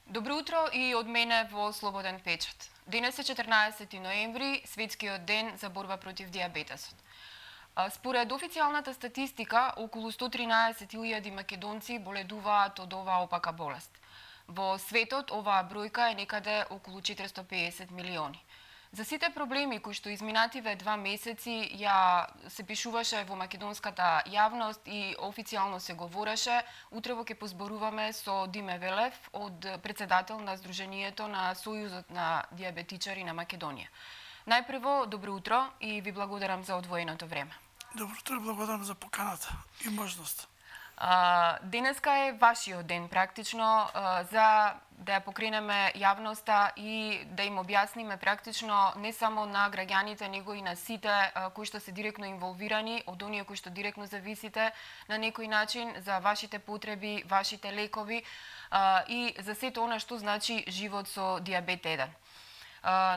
Добро утро и од мене во Слободен печат. Денес е 14 ноември, светскиот ден за борба против дијабетесот. Според официјалната статистика, околу 113.000 македонци боледуваат од оваа опака болест. Во светот оваа бројка е некаде околу 450 милиони. За сите проблеми кои што изминативе 2 месеци ја се пишуваше во македонската јавност и официјално се говореше, утрево ќе позборуваме со Диме Велев, председател на Сдруженијето на Сојузот на дијабетичари на Македонија. Најпрво, добро утро и ви благодарам за одвоеното време. Добро утро, благодарам за поканата и можност. Денеска е вашиот ден практично за да ја покренеме јавноста и да им објасниме практично не само на граѓаните, него и на сите кои што се директно инволвирани, од оние кои што директно зависите на некој начин за вашите потреби, вашите лекови и за сето она што значи живот со дијабет 1.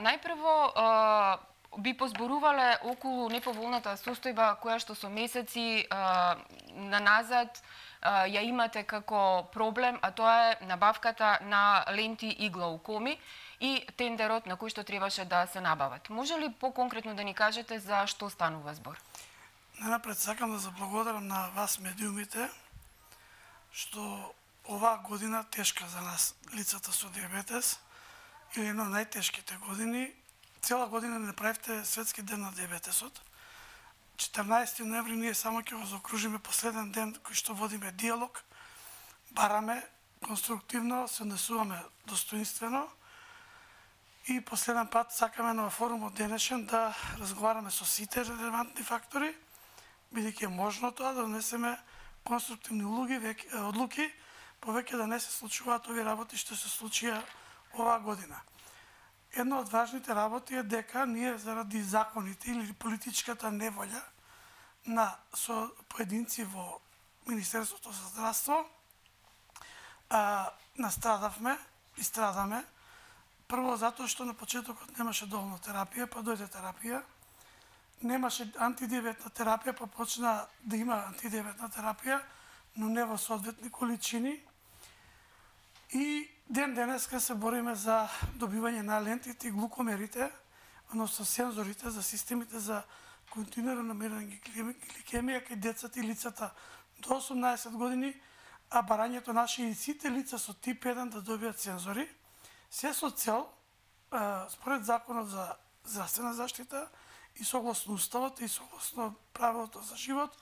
Најпрво би позборувале околу неповолната состојба која што со месеци наназад ја имате како проблем, а тоа е набавката на ленти и глаукоми и тендерот на кој што требаше да се набават. Може ли поконкретно да ни кажете за што станува збор? Најнапред сакам да заблагодарам на вас медиумите што оваа година тешка за нас, лицата со дијабетес, или една од најтешките години. Цела година не правите светски ден на дијабетесот. 14 ноември ние само ќе го заокружиме последен ден кој што водиме диалог, бараме конструктивно, се однесуваме достоинствено и последен пат сакаме на форумот денешен да разговараме со сите релевантни фактори, бидејќи е можно тоа да донесеме конструктивни одлуки, повеќе да не се случуваат овие работи што се случија оваа година. Една од важните работи е дека ние заради законите или политичката неволја на поединци во Министерството за здравство настрадавме и страдаме. Прво затоа што на почетокот немаше доволно терапија, па дојде терапија. Немаше антидиабетна терапија, па почна да има антидиабетна терапија, но не во соодветни количини. И денеска се бориме за добивање на лентите и глукомерите, односно сензорите за системите за континуирано мерење гликемија кај децата и лицата до 18 години, а барањето наши и сите лица со тип 1 да добијат сензори, се со цел, според Законот за здравствена заштита и согласно Уставот и согласно правилото за живот,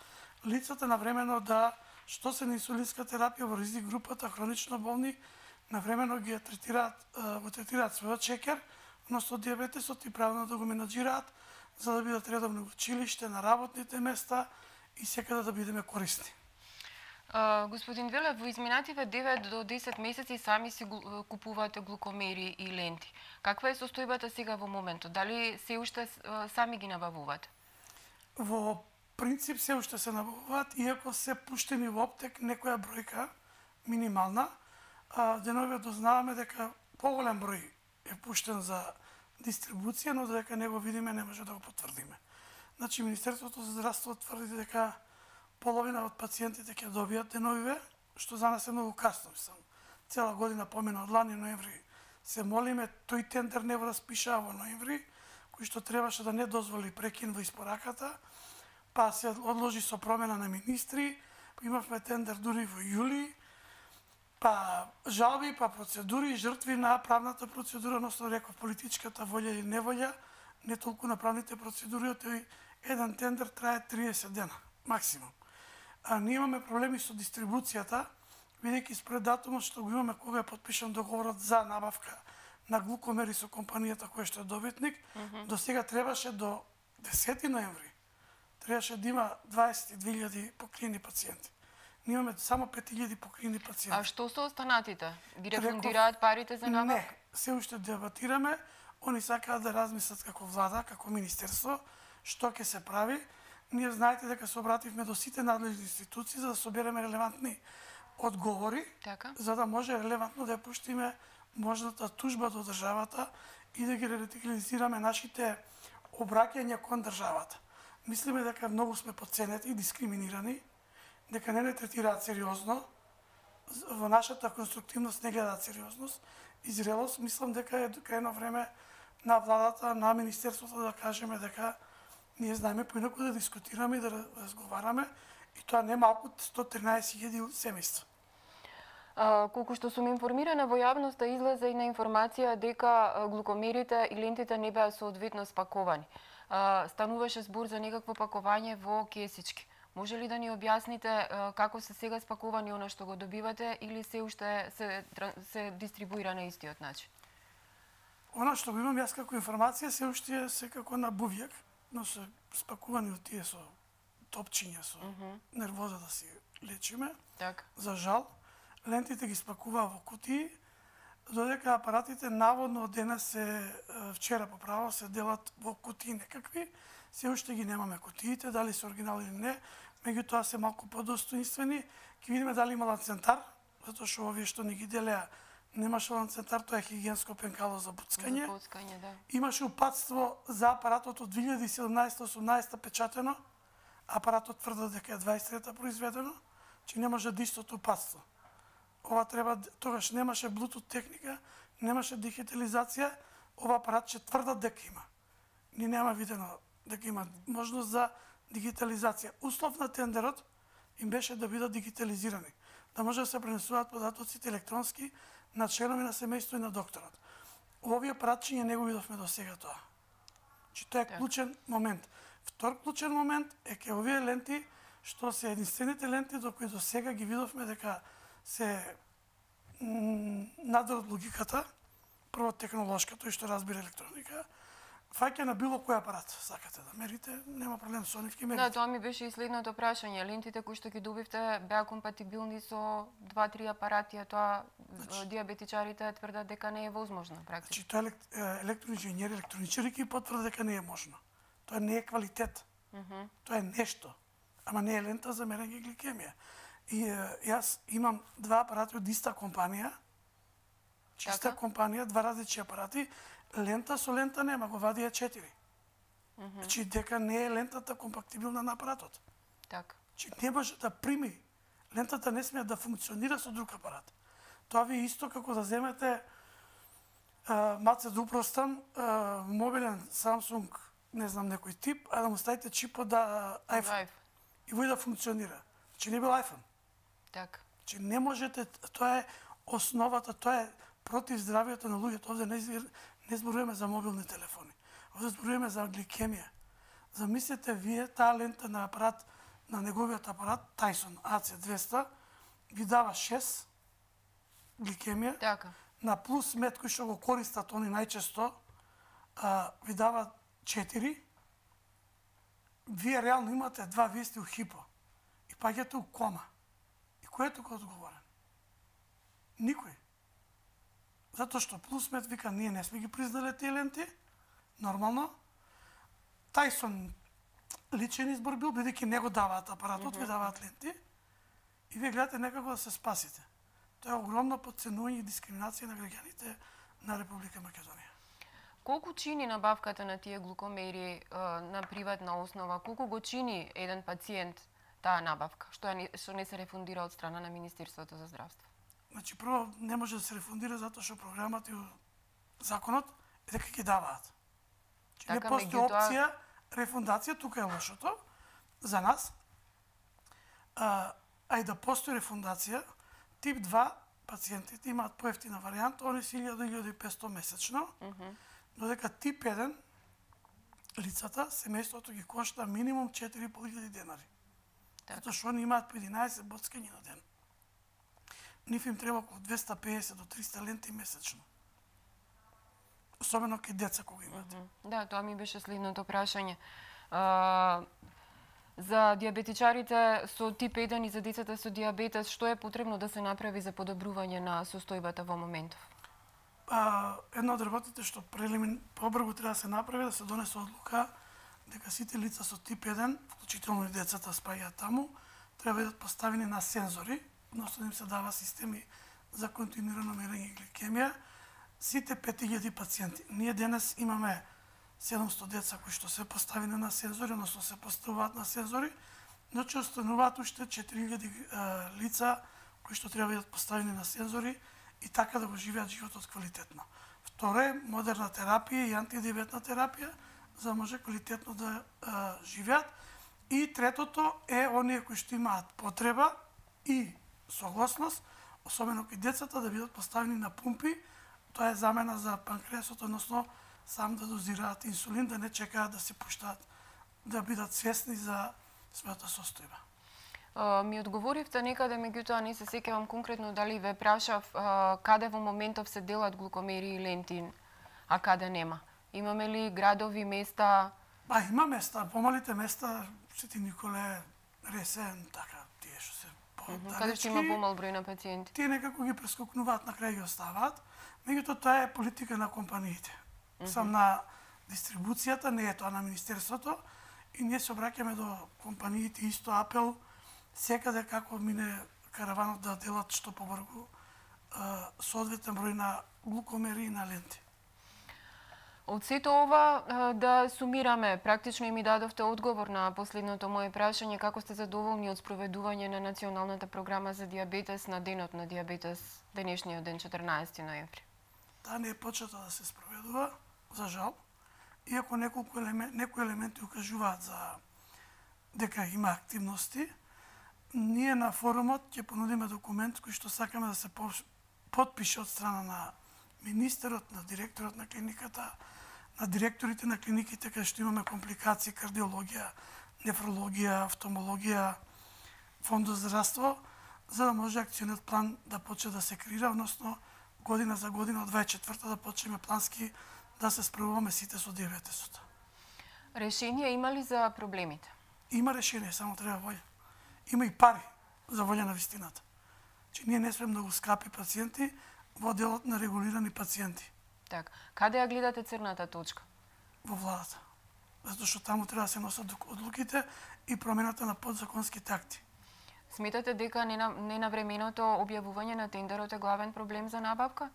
лицата навремено да, што се на инсулинска терапија во ризик групата, хронично болни, навремено ги третираат својот шекер, односно дијабетесот и правилно да го менаџираат, за да бидат редовно во училиште, на работните места и секаде да бидеме корисни. Господин Велев, во изминативе 9 до 10 месеци сами си купувате глукомери и ленти. Каква е состојбата сега во моментот? Дали се уште сами ги набавувате? Во принцип се уште се набавуваат, иако се пуштени во аптек некоја бројка минимална. Деновиве дознаваме дека поголем број е пуштен за дистрибуција, но дека не го видиме не може да го потврдиме. Значи, Министерството за здравство тврди дека половина од пациентите ќе добијат деновиве, што за нас е многу касно. Цела година помина од лани ноември се молиме, тој тендер не го распишаа во ноември, кој што требаше да не дозволи прекин во испораката, па се одложи со промена на министри, имавме тендер дури во јули, па жалби, па процедури, жртви на правната процедура, односно реков политичката волја или неволја, не толку на правните процедури, тој еден тендер трае 30 дена, максимум. А ние имаме проблеми со дистрибуцијата, бидејќи според датумот што го имаме кога е потпишан договорот за набавка на глукомери со компанијата која што е добитник, до сега требаше до 10 ноември, требаше да има 22.000 покриени пациенти. Ние имаме само 5.000 покриени пациенти. А што со останатите? Ги рефундираат парите за набавка? Не, се уште дебатираме. Они сакаат да размислат како влада, како министерство, што ќе се прави. Ние знаете дека се обративме до сите надлежни институции за да собереме релевантни одговори, за да може релевантно да ја пуштиме можната тужба до државата и да ги радикализираме нашите обраќања кон државата. Мислиме дека многу сме подценети и дискриминирани, дека не третираат сериозно во нашата конструктивност не гледаат сериозност и зрелост. Мислам дека е крајно време на владата, на министерството да кажеме дека ние знаеме поинаку да дискутираме и да разговараме, и тоа не малку од 113.000 семејства. Колку што сум информирана, во јавноста излезе и на информација дека глукомерите и лентите не беа соодветно спаковани. Стануваше збор за некакво пакување во кесички. Може ли да ни објасните како се сега спаковани она што го добивате или се уште се дистрибуира на истиот начин? Она што го имам јас како информација се уште е секако на бувјак, но се спакувани од тие со топчиња, со нервоза да си лечиме. Так. За жал, лентите ги спакуваа во кутии, додека апаратите наводно од денес вчера по право се делат во кутии некакви. Се уште ги немаме кутиите, дали се оригинал или не, меѓутоа се малку подостоинствени. Ќе видиме дали има ланцентар, затоа што овие што не ги делеа немаше ланцентар, тоа е хигиенско пенкало за буцкање. Да. Имаше упатство за апаратот од 2017-18 печатено, апаратот тврдо дека е 23-та произведено, че не може да истото упатство. Ова треба, тогаш немаше Bluetooth техника, немаше дигитализација, ова апарат ќе тврдат дека има. Ни нема видено дека има можност за дигитализација. Услов на тендерот им беше да бидат дигитализирани, да може да се пренесуваат податоците електронски на членови на семејство и на докторот. Овие апаратчиња не го видовме до сега тоа. Че тоа е клучен момент. Втор клучен момент е ке овие ленти, што се единствените ленти до кои до сега ги видовме дека се надвор од логиката, прво технолошка, тој што разбира електроника, фаќа на било кој апарат сакате да мерите, нема проблем со нив, ќе мерите. Да, тоа ми беше и следното прашање. Лентите кои што ги добивте беа компатибилни со 2-3 апарати, а тоа диабетичарите тврдат дека не е возможно практично. Значи тоа електроинженери, електроничари ќе потврдат дека не е можно. Тоа не е квалитет. Тоа е нешто, ама не е лента за мерење гликемија. И јас имам два апарати од иста компанија, чиста компанија, два различни апарати, лента со лента нема, го вадија 4. Значи дека не е лентата компактибилна на апаратот. Така. Значи не може да прими, лентата не смее да функционира со друг апарат. Тоа ви е исто како да земете, маце да упростам, мобилен Samsung, не знам некој тип, а да му ставите чипот да iPhone. И вој да функционира. Значи не бил iPhone. Така. Значи не можете, тоа е основата, тоа е против здравието на луѓето. Овде не зборуваме за мобилни телефони. Овде зборуваме за гликемија. Замислете вие таа лента на апарат, на неговиот апарат Tyson AC200 ви дава 6 гликемија. Така. На плюс мед кој што го користат они најчесто ви дава 4. Вие реално имате 2 вести у хипо и паѓате у кома. И кој е тука одговорен? Никој. Затоа што Плюсмед вика, ние не сме ги признали тие ленти, нормално. Tyson личен избор бил, бидејќи не го даваат апаратот, ви даваат ленти. И вие гледате некако да се спасите. Тоа е огромно подценување и дискриминација на граѓаните на Република Македонија. Колку чини набавката на тие глукомери на приватна основа? Колку го чини еден пациент таа набавка, што не се рефундира од страна на Министерството за здравство? Значи, прво, не може да се рефундира затоа што програмата и законот е дека ќе даваат. Значи, не постои опција рефундација, тука е лошото за нас. А и да постои рефундација, тип 2 пациентите имаат поевтина варијанта, они се 1000-1500 месечно, додека тип 1 лицата, семејството ги кошта минимум 4500 денари. Затоа што они имаат по 11 боцкања на ден. Нив им треба околу 250 до 300 ленти месечно. Особено кај деца кога имаат. Да, тоа ми беше следното прашање. За диабетичарите со тип 1 и за децата со диабетес, што е потребно да се направи за подобрување на состојбата во моментов? Едно од работите што побрзо треба да се направи, да се донесе одлука дека сите лица со тип 1, вклучително и децата спаѓаат таму, треба да бидат поставени на сензори, односно им се дава системи за континуирано мерење гликемија. Сите 5000 пациенти. Ние денес имаме 700 деца кои што се поставени на сензори, односно се поставуваат на сензори, но че остануваат уште 4000 лица кои што треба да бидат поставени на сензори и така да го живеат животот квалитетно. Второ е модерна терапија и антидиабетна терапија, за да може квалитетно да живеат. И третото е оние кои што имаат потреба и согласност, особено кај децата, да бидат поставени на пумпи. Тоа е замена за панкреасот, односно сам да дозираат инсулин, да не чекаат да се пуштаат, да бидат свесни за својата состојба. Ми одговоривте некаде, меѓутоа не се сеќавам конкретно дали ве прашав каде во моментов се делат глукомери и ленти, а каде нема. Имаме ли градови, места? Има места, помалите места, Свети Николе, Ресен, така, тие што се подалечки. Каде што има помал број на пациенти? Тие некако ги прескокнуваат, на крај ги оставаат. Меѓутоа тоа е политика на компаниите. Сам на дистрибуцијата, не е тоа на Министерството, и ние се обраќаме до компаниите, исто апел, секаде како мине караванот да делат што побрзо соодветен број на глукомери и на ленти. Од сето ова, да сумираме, практично и ми дадовте одговор на последното моje прашање, како сте задоволни од спроведување на Националната програма за диабетес на денот на диабетес, денешниот ден, 14 ноември? Таа не е почета да се спроведува, за жал, иако некои елементи укажуваат за дека има активности. Ние на форумот ќе понудиме документ кој што сакаме да се подпише од страна на министерот, на директорот на клиниката, на директорите на клиниките каде што имаме компликации, кардиологија, нефрологија, офталмологија, фонд за здравство, за да може акциониот план да почне да се креира, односно година за година од 24-та да почнеме плански да се справуваме сите со диабетесот. Решение има ли за проблемите? Има решение, само треба волја. Има и пари за волја на вистината. Че ние не сме многу скапи пациенти во делот на регулирани пациенти. Так, каде ја гледате црната точка? Во владата. Затоа што таму треба да се носат одлуките и промената на подзаконските акти. Сметате дека ненавременото објавување на тендерот е главен проблем за набавка?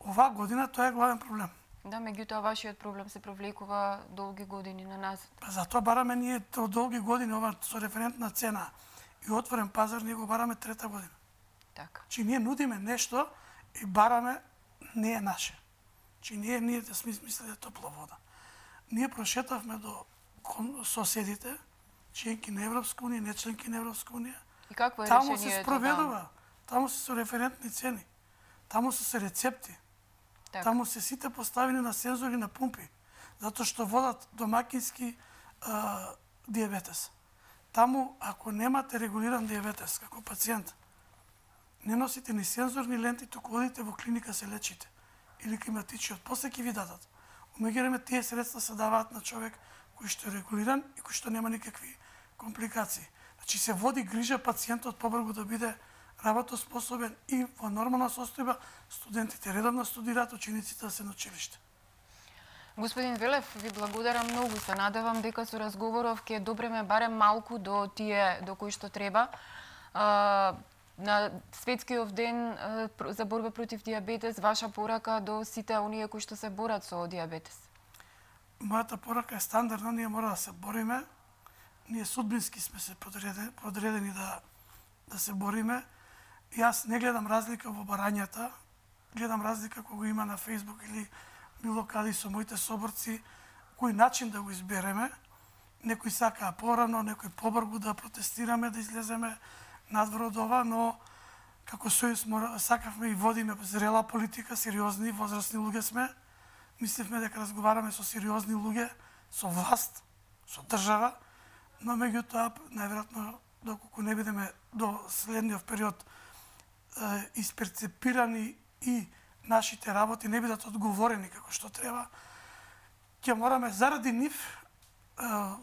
Оваа година тоа е главен проблем. Да, меѓутоа вашиот проблем се провлекува долги години на назад. Затоа бараме ние од долги години ова со референтна цена и отворен пазар, ние го бараме трета година. Така. Че ние нудиме нешто и бараме не е наше. Че ние да сме измислили топла вода. Ние прошетавме до соседите, членки на Европска унија, не членки на Европска унија. И какво е таму решението? Се спроведува. Таму се со референтни цени. Таму се рецепти. Так. Таму се сите поставени на сензори на пумпи, затоа што водат домакински диабетес. Таму, ако немате регулиран диабетес како пациент, не носите ни сензорни ленти, туку одите во клиника се лечите. Или климатичиот, после ќе ви дадат. Умеѓу тие средства се даваат на човек кој што е регулиран и кој што нема никакви компликации. Значи се води грижа пациентот побрзо да биде работоспособен и во нормална состојба, студентите редовно студираат, учениците да се на училиште. Господин Велев, ви благодарам многу. Се надевам дека со разговоров ќе добреме барем малку до тие до кои што треба. На Светскиот ден за борба против диабетес, ваша порака до сите оние кои што се борат со диабетес? Мојата порака е стандардна, ние мора да се бориме. Ние судбински сме се подредени да се бориме. И јас не гледам разлика во барањата, гледам разлика кога го има на Facebook или било каде со моите соборци, кој начин да го избереме. Некои сакаа порано, некои побрзо да протестираме, да излеземе надвор од ова, но како сојуз сакавме и водиме зрела политика, сериозни, возрастни луѓе сме. Мисливме дека разговараме со сериозни луѓе, со власт, со држава, но меѓутоа, најверојатно, доколку не бидеме до следниот период исперцепирани и нашите работи не бидат одговорени како што треба, ќе мораме заради нив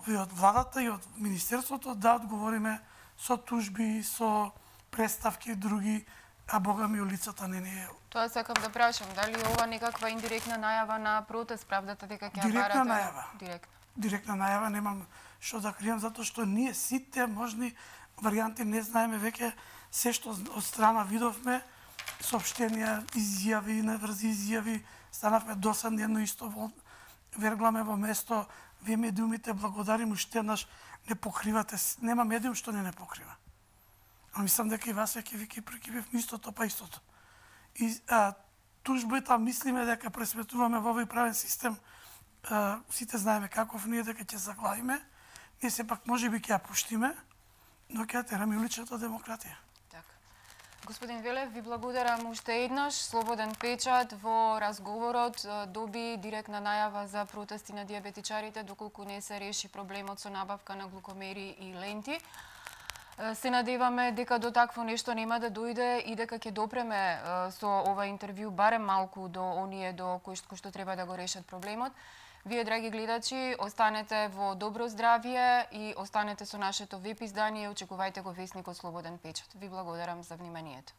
и од владата и од министерството да одговориме со тужби, со представки и други, а бога ми улицата не е. Тоа сакам да прашам, дали ова некаква индиректна најава на протест, правдата дека ќе барате? Директна најава. Директна најава, немам што да кријам, затоа што ние сите можни варијанти не знаеме веќе се што од страна видовме, соопштенија, изјави, неврзи изјави, станавме досадни, едно исто вергламе во место, вие медиумите благодарим уште еднаш, не покривате, нема медиум што не покрива. Мислам дека и вас ќе ви прикипев истото па истото. И тужбата мислиме дека пресметуваме во овој правен систем, сите знаеме каков ние, дека ќе заглавиме, ние сепак можеби ќе ја пуштиме, но ќе ја тераме уличната демократија. Така. Господин Велев, ви благодарам уште еднаш. Слободен печат во разговорот доби директна најава за протести на диабетичарите доколку не се реши проблемот со набавка на глукомери и ленти. Се надеваме дека до такво нешто нема да дојде и дека ќе допреме со ова интервју барем малку до оние до кои што треба да го решат проблемот. Вие, драги гледачи, останете во добро здравје и останете со нашето веб издание и очекувајте го весникот Слободен печат. Ви благодарам за вниманието.